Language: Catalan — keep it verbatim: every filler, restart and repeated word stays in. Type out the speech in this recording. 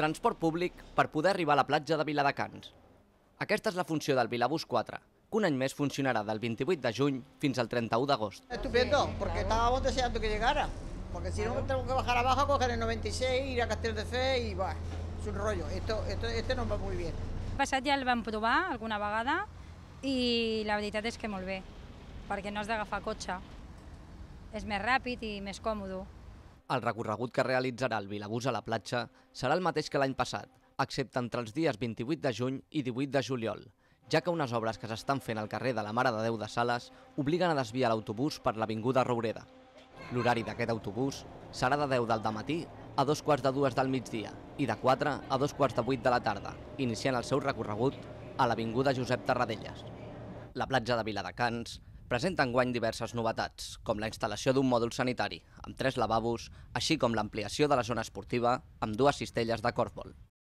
Transport públic per poder arribar a la platja de Viladecans. Aquesta és la funció del Vilabús quatre, que un any més funcionarà del vint-i-vuit de juny fins al trenta-u d'agost. Estupendo, porque estábamos deseando que llegara, porque si no tenemos que bajar abajo, coger el noventa y seis, ir a Castelldefels y va, es un rollo, esto, esto, este nos va muy bien. El passat ja el vam provar alguna vegada i la veritat és que molt bé, perquè no has d'agafar cotxe, és més ràpid i més còmode. El recorregut que realitzarà el Vilabús a la platja serà el mateix que l'any passat, excepte entre els dies vint-i-vuit de juny i divuit de juliol, ja que unes obres que s'estan fent al carrer de la Mare de Déu de Sales obliguen a desviar l'autobús per l'avinguda Roureda. L'horari d'aquest autobús serà de deu del matí a dos quarts de dues del migdia i de quatre a dos quarts de vuit de la tarda, iniciant el seu recorregut a l'avinguda Josep Tarradellas. La platja de Viladecans presenta enguany diverses novetats, com la instal·lació d'un mòdul sanitari, amb tres lavabos, així com l'ampliació de la zona esportiva amb dues cistelles de corfbol.